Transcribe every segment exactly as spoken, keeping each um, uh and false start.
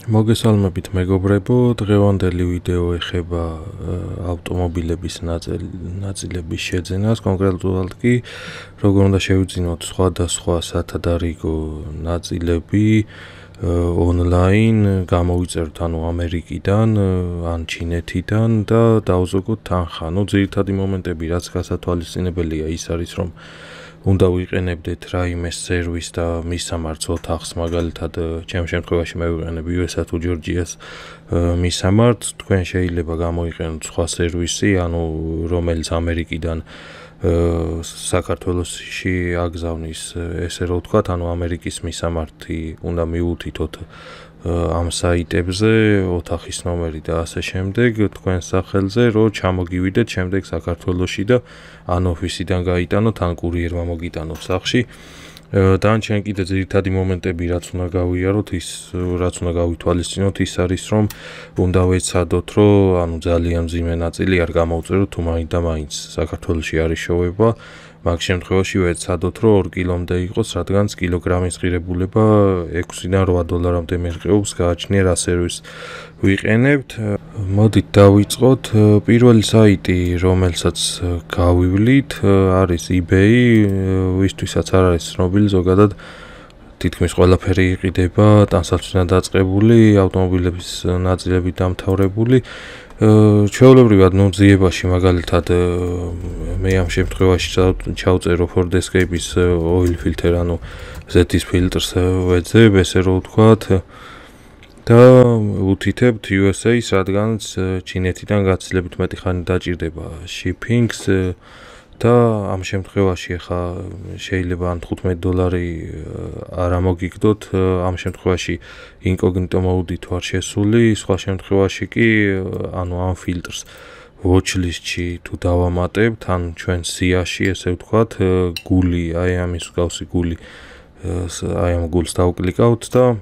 მოგესალმებით მეგობრებო, დღევანდელი ვიდეო ეხება ავტომობილების ნაწილების შეძენას, კონკრეტულად კი როგორ უნდა შევიძინოთ სხვადასხვა სათადარიგო ნაწილები ონლაინ, გამოვიწეროთ ანუ ამერიკიდან, ან ჩინეთიდან და დავზოგოთ თანხა. ნუ ძირითადი მომენტები, რაც გასათვალისწინებელია, ის არის რომ უნდა ვიყენებდეთ რაიმე სერვისს და მისამართს ოთახს, მაგალითად, ჩემ შემთხვევაში მე ვიყენებ იუ ეს თუ ჯორჯიას მისამართს, თქვენ შეიძლება გამოიყენოთ სხვა სერვისი, ანუ რომელიც ამერიკიდან საქართველოში აგზავნის, ესე რომ ვთქვათ, ანუ ამერიკის მისამართი უნდა მიუთითოთ ამ საიტებზე, ოთახის ნომერი და ასე შემდეგ, თქვენ სახელზე, რომ ჩამოგივიდეთ შემდეგ საქართველოში და ან ოფისიდან გაიტანოთ, ან კურიერმა მოგიტანოთ სახლში. დანარჩენი კიდე ძირითადი მომენტები, რაც უნდა გავიაროთ, ის რაც უნდა გავითვალისწინოთ, ის არის, რომ უნდა ვეცადოთ, რომ ანუ ძალიან მძიმე ნაწილი არ გამოვწეროთ, თუ მაინც და მაინც საქართველოში არის შოვება. მაგ შემთხვევაში ვეცადოთ, რომ ორ კილომდე იყოს, რადგან კილოგრამის ღირებულება ექვსიდან რვა დოლარამდე მერყეობს, გააჩნია რა სერვისს ვიყენებთ. მოდით დავიწყოთ. პირველი საიტი, რომელსაც გავივლით, არის eBay, ვისთვისაც არ არის ცნობილი, ზოგადად თითქმის ყველაფერი იყიდება ტანსაცმლიდან დაწყებული, ავტომობილების ნაწილებით დამთავრებული. ჩვეულებრივად ნუ ძიებაში მაგალითად მე ამ შემთხვევაში ჩავწერო Ford Escape-ის oil filter, ანუ ზეთის ფილტრს ვეძებ, ესე რომ ვთქვათ, და უთითებთ იუ ეს ეის, რადგანაც ჩინეთიდან გაცილებით მეტი ხანი დაჭირდება shipping-ს და ამ შემთხვევაში ახლა შეიძლება ან თხუთმეტი დოლარი არ ამოგიგდოთ, ამ შემთხვევაში incognito mode-ით ვარ შესული, სხვა შემთხვევაში კი ანუ ამ ფილტრს watch-list-ში თუ დავამატებთ, ან ჩვენ სიაში, ესე ვთქვათ, გული, აი ამის მსგავსი გული, აი ამ გულს დავკლიკავთ და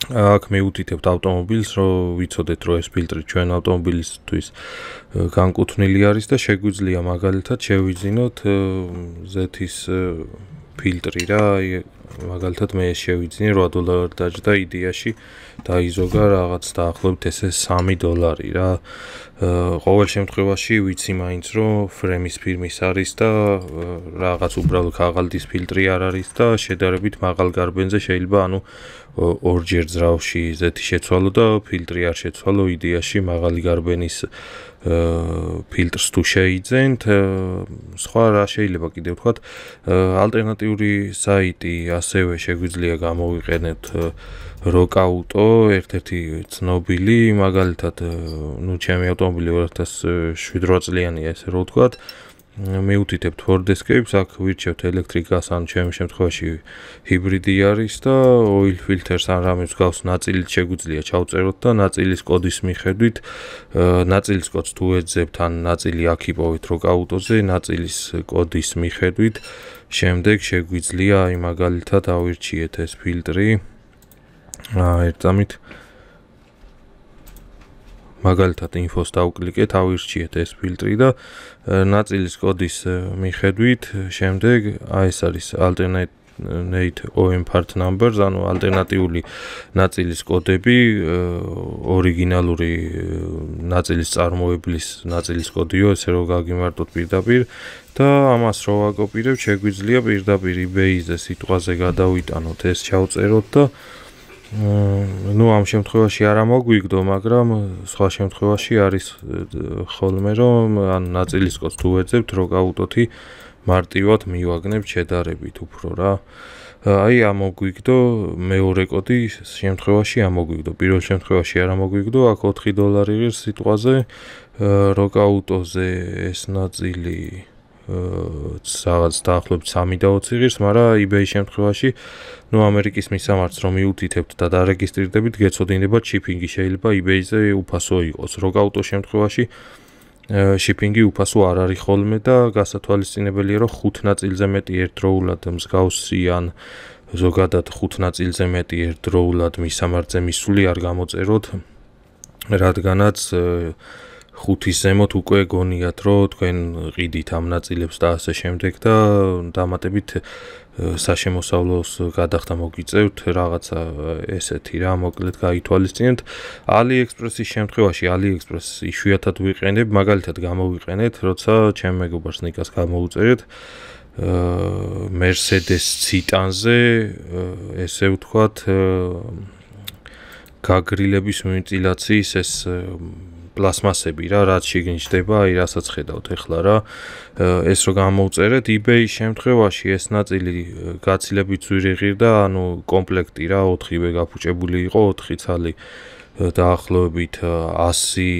აქ მიუთითებთ ავტომობილს, რომ ვიცოდეთ, რომ ეს ფილტრი ჩვენ ავტომობილისთვის განკუთვნილი არის და შეგვიძლია მაგალითად შევიძინოთ ზეთის ფილტრი რა, მაგალითად მე შევიძინე რვა დოლარი დაჯდა იდეაში დაიზოგა რაღაც დაახლოებით ესე სამი დოლარი რა. ყოველ შემთხვევაში ვიცი მაინც რომ ფრემის ფირმის არის და რაღაც უბრალო ქაღალდის ფილტრი არ არის და შედარებით მაღალ გარბენზე შეიძლება ანუ ორჯერ ძრავში ზეთი შეცვალო და ფილტრი არ შეცვალო, იდეაში მაღალი გარბენის ფილტრს თუ შეიძენთ. სხვა რა შეიძლება კიდე ვთქვათ, ალტერნატიული საიტი ასევე შეგვიძლია გამოვიყენოთ როკაუტო, ერთ-ერთი ცნობილი, მაგალითად, ნუ ჩემი ავტომობილი ორი ათას შვიდ წლიანია, ესე რომ ვთქვათ, მიუთითებთ Ford Escape-ს, აქ ვირჩევთ ელექტრიკას, ან ჩემი შემთხვევაში ჰიბრიდი არის და oil filter-ს ან რამე მსგავს ნაწილით შეგვიძლია ჩავწეროთ და ნაწილის კოდის მიხედვით, ნაწილის კოდს თუ ეძებთ, ან ნაწილი აქ იპოვეთ როკაუტოზე, ნაწილის კოდის მიხედვით, შემდეგ შეგვიძლია აი მაგალითად ავირჩიეთ ეს ფილტრი. ერთამით მაგალითად info-ს დავკლიკეთ, ავირჩიეთ ეს ფილტრი და ნაწილის კოდის მიხედვით, შემდეგ აი ეს არის alternate O E M part numbers, ანუ ალტერნატიული ნაწილის კოდები, ორიგინალური ნაწილის წარმოებლის ნაწილის კოდიო, ესე რომ გაგიმარტოთ პირდაპირ და ამას რო ვაკოპირებ, შეგვიძლია პირდაპირ eBay-ზე სიტყვაზე გადავიტანოთ, ეს ჩავწეროთ და ნუ ამ შემთხვევაში არ ამოგვიგდო, მაგრამ სხვა შემთხვევაში არის ხოლმე რომ ან ნაწილის კოდს თუ ვეძებთ, როკაუტოთი მარტივად მივაგნებთ შედარებით უფრო რა. აი ამოგვიგდო, მეორე კოდი შემთხვევაში ამოგვიგდო, პირველ შემთხვევაში არ ამოგვიგდო, აქ ოთხი დოლარი ღირს სიტყვაზე, როკაუტოზე ეს ნაწილი რაღაც დაახლოებით სამი და ოცი ღირს, მაგრამ eBay შემთხვევაში, ნუ ამერიკის მისამართს რომ მიუთითებთ და დარეგისტრირდებით, გეცოდინებათ shipping-ი, შეიძლება eBay-ზე უფასო იყოს. როკაუტო შემთხვევაში shipping-ი უფასო არ არის ხოლმე და გასათვალისწინებელია, რომ ხუთ ნაწილზე მეტი ერთდროულად მსგავსი ან ზოგადად ხუთ ნაწილზე მეტი ერთდროულად მისამართზე მისული არ გამოწეროთ, რადგანაც ხუთის ზემოთ უკვე გონიათ, რომ თქვენ ყიდით ამ ნაწილებს და ასე შემდეგ და დამატებით საშემოსავლოს გადახდა მოგიწევთ რაღაცა ესეთი რა მოკლედ გაითვალისწინეთ AliExpress-ის შემთხვევაში AliExpress იშვიათად ვიყენებ მაგალითად გამოვიყენეთ როცა ჩემ მეგობარს ნიკას გამოვუწერეთ Mercedes Citan-ზე ესე ვთქვათ გაგრილების ვენტილაციის ეს პლასმასები რა რაც შეგინჯდება აი რასაც ხედავთ ეხლა რა ეს რო გამოვწერეთ eBay-ის შემთხვევაში ეს ნაწილი გაცილებით ძვირი ღირდა ანუ კომპლექტი რა ოთხივე გაფუჭებული იყო ოთხი ცალი დაახლოებით ასი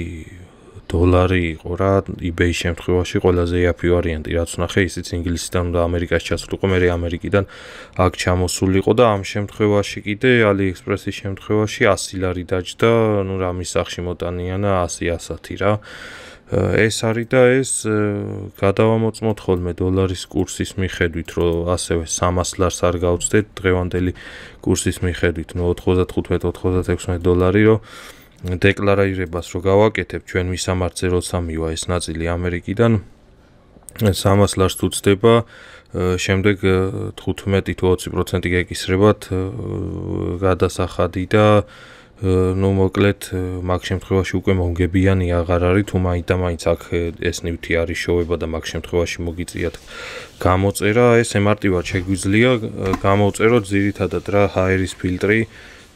დოლარი იყო რა eBay-ის შემთხვევაში ყველაზე იაფი ვარიანტი რაც ვნახე ისიც ინგლისიდან და ამერიკაში ჩასულიყო მე ამერიკიდან აქ ჩამოსულიყო და ამ შემთხვევაში კიდე AliExpress-ის შემთხვევაში ასი ლარი დაჯდა ნუ რამის სახში მოტანიანა ასი ასათი რა ეს არის და ეს გადავამოწმოთ ხოლმე დოლარის კურსის მიხედვით რომ ასევე სამას ლარს არ გავწდეთ დღევანდელი კურსის მიხედვით ნუ ოთხმოცდათხუთმეტ ოთხმოცდაექვსმეტ დოლარი რომ დეკლარირებას რო გავაკეთებ ჩვენ მისამართზე როცა მივა ეს ნაწილი ამერიკიდან სამას ლარს თუ წდება შემდეგ თხუთმეტი თუ ოცი პროცენტი გეკისრებათ გადასახადი და ნუ მოკლედ მაგ შემთხვევაში უკვე მომგებიანი აღარ არის თუ მაინც და მაინც აქ ეს ნივთი არის შოვება და მაგ შემთხვევაში მოგიწიათ გამოწერა ეს ემარტივად შეგვიძლია გამოვწეროთ ძირითადად რა ჰაერის ფილტრი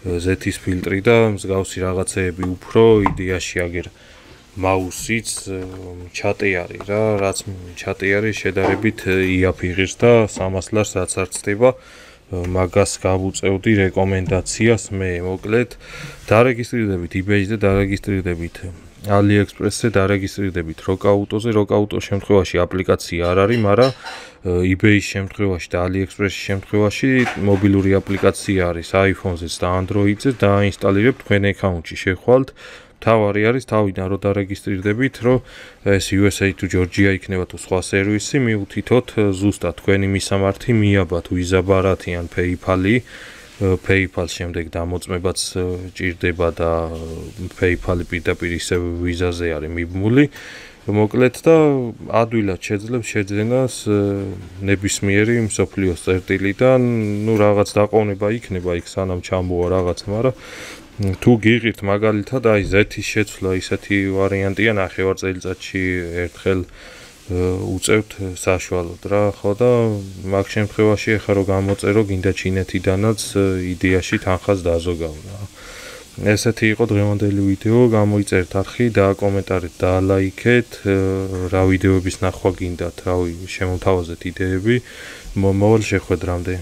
ზეთის ფილტრი და მსგავსი რაღაცეები უფრო იდეაში აგერ მაუსიც ჩატეარი რა რაც ჩატეარი შედარებით იაფი ღირს და სამას ლარს რაც არ წდება მაგას გავუწევდი რეკომენდაციას მე მოკლედ დარეგისტრირდებით eBay-ზე დარეგისტრირდებით AliExpress-ზე დარეგისტრირდებით Rockauto-ზე Rockauto-ის შემთხვევაში აპლიკაცია არ არის მაგრამ eBay-ის შემთხვევაში და AliExpress-ის შემთხვევაში მობილური აპლიკაცია არის iPhone-ზეც და Android-ზეც დაინსტალირებთ თქვენ აკაუნტში შეხვალთ თავარი არის თავიდან რო დარეგისტრირდებით რომ ეს U S A თუ Georgia იქნება თუ სხვა სერვისი მიუთითოთ ზუსტად თქვენი მისამართი მიაბათ Visa ბარათი ან PayPal-ი PayPal-ს შემდეგ დამოწმებაც ჭირდება და PayPal-ი პირდაპირ ისე Visa-ზე არის მიბმული მოკლედ და ადვილად შეძლებს შეძენას ნებისმიერი მსოფლიოს წერტილიდან ნუ რაღაც დაყოვნება იქნება იქ სანამ ჩამოვა რაღაცა მაგრამ თუ გიღირთ მაგალითად აი ზეთის შეცვლა ისეთი ვარიანტია ნახევარ წელიწადში ერთხელ უწევთ საშუალოდ რა ხო და მაგ შემთხვევაში ახლა რო გამოწერო გინდა ჩინეთიდანაც იდეაში თანხას დაზოგავ რა ესეთი იყო დღევანდელი ვიდეო გამოიწერთ არხი და კომენტარით დაალაიქეთ რა ვიდეოების ნახვა გინდათ რავი შემოთავაზეთ იდეები მოვალ შეხვედრამდე